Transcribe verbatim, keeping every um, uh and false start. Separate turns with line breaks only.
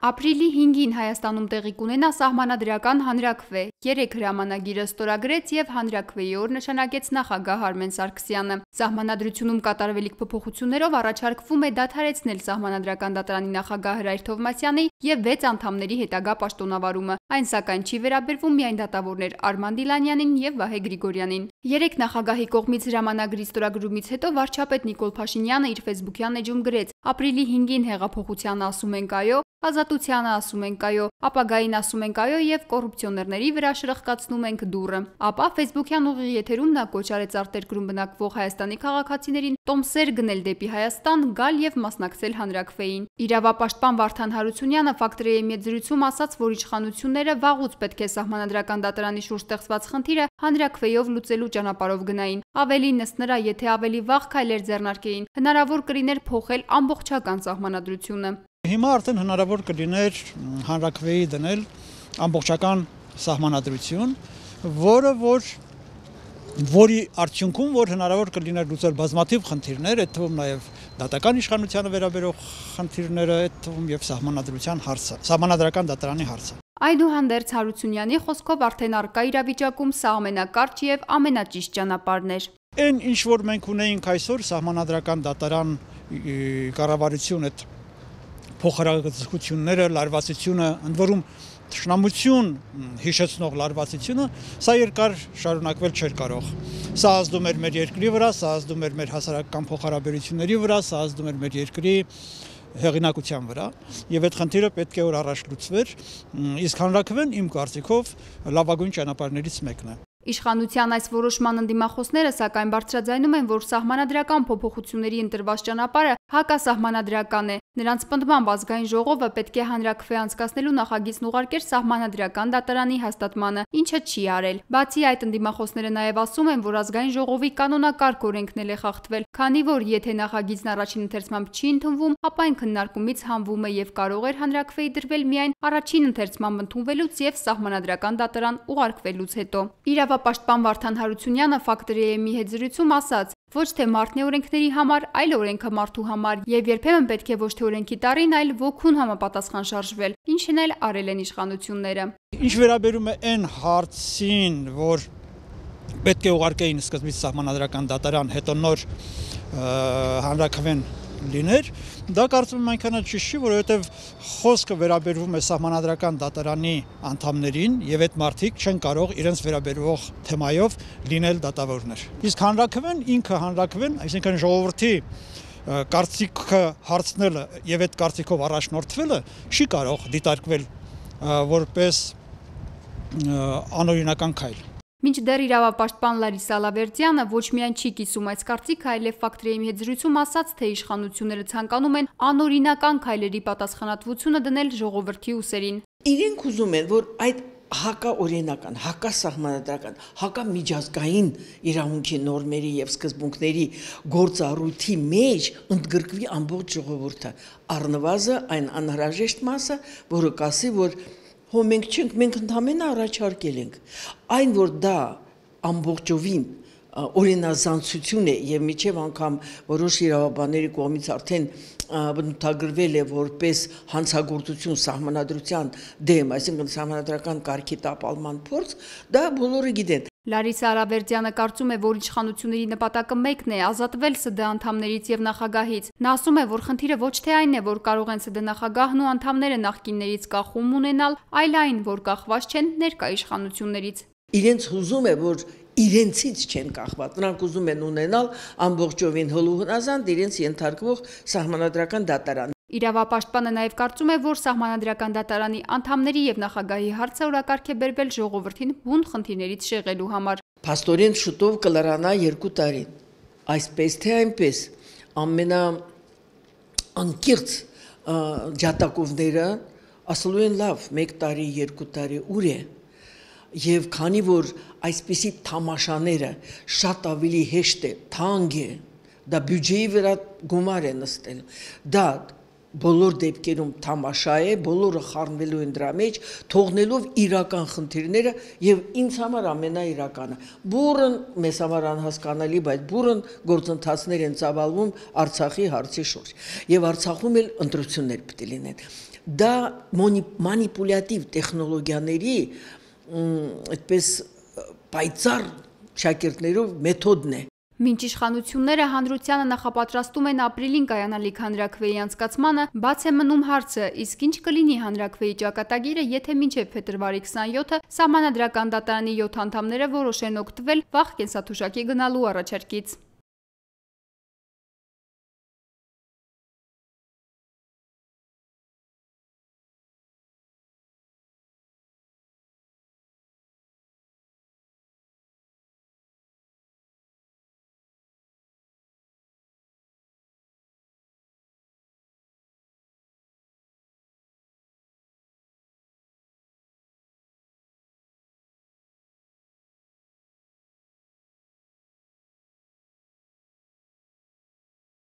Ապրիլի հինգին Հայաստանում տեղի կունենա սահմանադրական հանրաքվե։ Երեք հրամանագիրը ստորագրեց եւ հանրաքվեի օր նշանակեց նախագահ Արմեն Սարգսյանը։ Սահմանադրությունում կատարվելիք փոփոխություններով առաջարկվում է դադարեցնել սահմանադրական դատարանի նախագահ Հրայր Թովմասյանի եւ վեց անդամների հետագա պաշտոնավարումը։ Այն սակայն չի վերաբերվում միայն դատավորներ Արման Դիլանյանին եւ Վահե Գրիգորյանին։ Երեք նախագահի կողմից հրամանագրի ստորագրումից հետո վարչապետ Նիկոլ Փաշինյանը իր ֆեյսբուքյան էջում գրեց. «Ապրիլի հինգին հեղափոխությանը ասում ենք այո, ազատությանը ասում ենք այո, ապագային ասում ենք այո եւ կոռուպցիոներների վրա շրխկացնում ենք դուռը»։ Ապա ֆեյսբուքյան ուղիղ եթերում նա կոչ արեց արտերկրում բնակվող Հայաստանի քաղաքացիներին տոմսեր գնել դեպի Հայաստան, գալ եւ մասնակցել հանրաքվեին։ Իրավապաշտպան Վարդան Հարությունյանը Ֆակտորիի զրույցում ասաց, որ իշխանությունները վաղուց պետք է սահմանադրական դատարանի շուրջ ստեղծված խնդիրը հանրաքվեով լուծելու ճանապարհով գնային։ Ավելին ըստ նրա, եթե ավելի վաղ քայլեր ձեռնարկեին, հնարավոր կլիներ փոխել ամբողջական սահմանադրությունը։
Հիմա արդեն հնարավոր կլիներ հանրաքվեի դնել ամբողջական սահմանադրություն, որը որ որի արդյունքում որ հնարավոր կլիներ լուծել բազմաթիվ խնդիրներ, այդ թվում նաև դատական իշխանությանը վերաբերող խնդիրները, այդ թվում եւ սահմանադրության հարցը, սահմանադրական դատարանի հարցը։
Այդուհանդերձ Հարությունյանի խոսքով արդեն արկա իրավիճակում սա ամենակարճ եւ ամենաճիշտ ճանապարհն էր։
Այն ինչ որ մենք ունեինք այսօր սահմանադրական դատարան կառավարություն այդ փոխհարազատությունները, լարվածությունը, ընդ որում թշնամություն հիշեցնող լարվածությունը, սա երկար շարունակվել չէր կարող։ Սա ազդում էր մեր երկրի վրա, սա ազդում էր մեր հասարակական փոխհարաբերությունների վրա, սա ազդում էր մեր երկրի հեղինակության վրա, եւ այդ խնդիրը պետք է որ առաջ լուծվեր, իսկ հանրաքվեն իմ կարծիքով լավագույն ճանապարհներից մեկն է։
Իշխանության այս որոշման ընդդիմախոսները սակայն բարձրաձայնում են, որ սահմանադրական փոփոխությունների ընտրված ճանապարհը հակասահմանադրական է։ Նրանց պնդմամբ ազգային ժողովը պետք է հանրաքվե անցկացնելու նախագիծն ուղարկեր սահմանադրական դատարանի հաստատմանը, ինչը չի արել։ Բացի այդ, ընդդիմախոսները նաև ասում են, որ ազգային ժողովի կանոնակարգ օրենքն էլ է խախտվել, քանի որ եթե նախագիծն առաջին ընթերցմամբ չի ընդունվում, ապա այն քննարկումից հանվում է եւ կարող էր հանրաքվեի դրվել միայն առաջին ընթերցմամբ ընդունվելուց եւ սահմանադրական դատարան ուղարկվելուց հետո։ Իրավապաշտպան Վարդան Հարությունյանը Ֆակտորիի հետ զրույցում ասաց. ոչ թե մարդն է օրենքների համար, այլ օրենքը մարդու համար, եւ երբեմն պետք է ոչ թե օրենքի տարին, այլ ոգուն համապատասխան շարժվել, ինչն էլ արել են իշխանությունները։
Ինչ վերաբերում է այն հարցին, որ պետք է ուղարկեին սկզբից սահմանադրական դատարան, հետո նոր հանրաքվեն լիներ, դա կարծում եմ այնքան ճիշտ չի, որովհետև խոսքը վերաբերվում է սահմանադրական դատարանի անդամներին եւ այդ մարդիկ չեն կարող իրենց վերաբերող թեմայով լինել դատավորներ։ Իսկ հանրաքվեն ինքը հանրաքվեն, այսինքն ժողովրդի կարծիքը հարցնելը եւ այդ կարծիքով առաջնորդվելը չի կարող դիտարկվել որպես անօրինական քայլ։
Մինչդեռ իրավապաշտպան Լարիսա Լավերդյանը ոչ միայն չի կիսում այս կարծիքը, այլև Ֆակտորիի հետ զրույցում ասաց, թե իշխանությունները ցանկանում են անօրինական քայլերի պատասխանատվությունը դնել ժողովրդի ուսերին։
Իրենք ուզում են, որ այդ հակաօրինական, հակասահմանադրական, հակամիջազգային իրավունքի նորմերի եւ սկզբունքների գործառույթի մեջ ընդգրկվի ամբողջ ժողովուրդը, առնվազն այն անհրաժեշտ մասը, որը կասի, որ հո մենք չենք, մենք ընդհանրապես առաջարկել ենք։ Այն, որ դա ամբողջովին օրինազանցություն է եւ միջև անգամ որոշ իրավաբանների կողմից արդեն բնութագրվել է որպես հանցագործություն սահմանադրության դեմ, այսինքն սահմանադրական կարգի տապալման փորձ, դա բոլորը գիտեն։
Լարիսա Լավերդյանը կարծում է, որ իշխանությունների նպատակը մեկն է՝ ազատվել ՍԴ անդամներից եւ նախագահից։ Նա ասում է, որ խնդիրը ոչ թե այն է, որ կարող են ՍԴ նախագահն ու անդամները նախկիններից կախում ունենալ, այլ այն, որ կախված չեն ներկա իշխանություններից։
Իրենց հուզում է, որ իրենցից չեն կախված, նրանք ուզում են ունենալ ամբողջովին հոլուհնազանդ իրենց ենթարկվող սահմանադրական դատարան։
Իրավապաշտպանը նաև կարծում է, որ սահմանադրական դատարանի անդամների եւ նախագահի հարցը օրակարգ է բերվել ժողովրդին բուն խնդիրներից շեղելու համար։
Փաստորեն շուտով կլրանա երկու տարի։ Այսպես թե այնպես ամենա անկիրց ջատագովները ասելու են լավ, մեկ տարի, երկու տարի ուր է։ Եվ քանի որ այսպիսի թամաշաները շատ ավելի հեշտ է, թանկ է, դա բյուջեի վրա գումար է նստել, դա բոլոր դեպքերում թամաշա է, բոլորը խառնվելու են դրա մեջ, թողնելով իրական խնդիրները եւ ինձ համար ամենաիրականը։ Բուրըն մեզ համար անհասկանալի, բայց բուրըն գործընթացներ են ծավալվում Արցախի հարցի շուրջ։ Եվ Արցախում էլ ընտրություններ պետք է լինեն։ դա մանիպուլյատիվ տեխնոլոգիաների այդպես պայծառ շակերտներով մեթոդն է։
Մինչ իշխանությունները հանրությանը նախապատրաստում են ապրիլին կայանալիք հանրաքվեի անցկացմանը, բաց է մնում հարցը, իսկ ինչ կլինի հանրաքվեի ճակատագիրը, եթե մինչև փետրվարի քսաներկուը Սահմանադրական դատարանի յոթ անդամները որոշեն օգտվել վաղ կենսաթոշակի գնալու առաջարկից։